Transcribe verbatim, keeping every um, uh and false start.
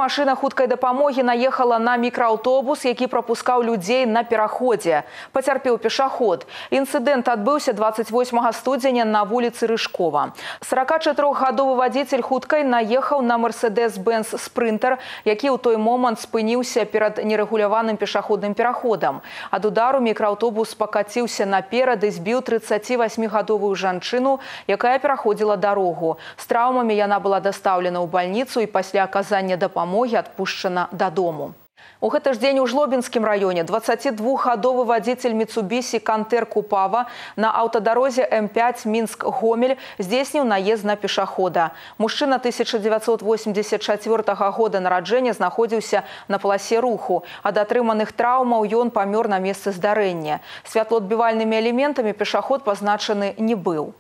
Машина хуткай дапамогі наехала на мікрааўтобус, які прапускаў людзей на пераходзе. Пацярпеў пешаход. Інцыдэнт адбыўся двадцать восьмага студзеня на вуліцы Рыжкова. сорокачатырохгадовы вадзіцель хуткай наехаў на Мерседес-Бенц Спринтер, які ў той момант спыніўся перад нерэгуляваным пешаходным пераходам. Ад удару мікрааўтобус пакаціўся наперад і збіў трыццацівасьмігадовую жанчыну, якая пераходзіла дарогу. З траўмамі яна была дастаўлена ў бальніцу і пасля аказання дапамогі адпушчана дадому. У гэты ж дзень у Жлобінскім раёне дваццацідвухгадовы вадзіцель Міцубісі Кантэр Купава на аўтадарозе эм пять Мінск-Гомель здзейсніў наезд на пешахода. Мужчына тысяча дзевяцьсот восемьдесят чацвёртага года нараджэння знаходзіўся на паласе руху. Ад атрыманых траўмаў ён памёр на месцы здарэння. Святлоадбівальнымі элементамі пешаход пазначаны не быў.